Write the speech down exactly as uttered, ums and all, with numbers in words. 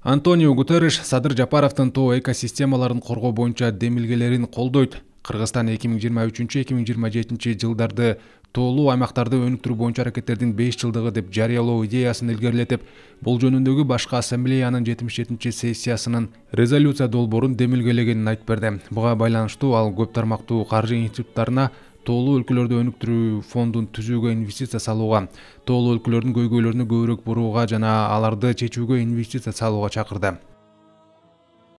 Антонио Гутерриш Садыр Жапаровдун тоо экосистемаларын коргоо боюнча демилгелерин колдойт. Кыргызстан эки миң жыйырма үчүнчү эки миң жыйырма жетинчи жылдарды тоолуу аймактарды өнүктүрүү боюнча аракеттердин беш жылдыгы деп жарыялоо идеясын илгерилетип, бул жөнүндөгү башкы ассамблеянын жетимиш жетинчи сессиясынын резолюция долбоорун демилгелегенин айтып берди. Буга байланыштуу ал көп тармактуу каржы институттарына тоолуу өлкөлөрдү өнүктүрүү фондун түзүүгө инвестиция салууга, тоолуу өлкөлөрдүн көйгөйлөрүнө көбүрөөк бурууга жана аларды чечүүгө инвестиция салууга чакырды.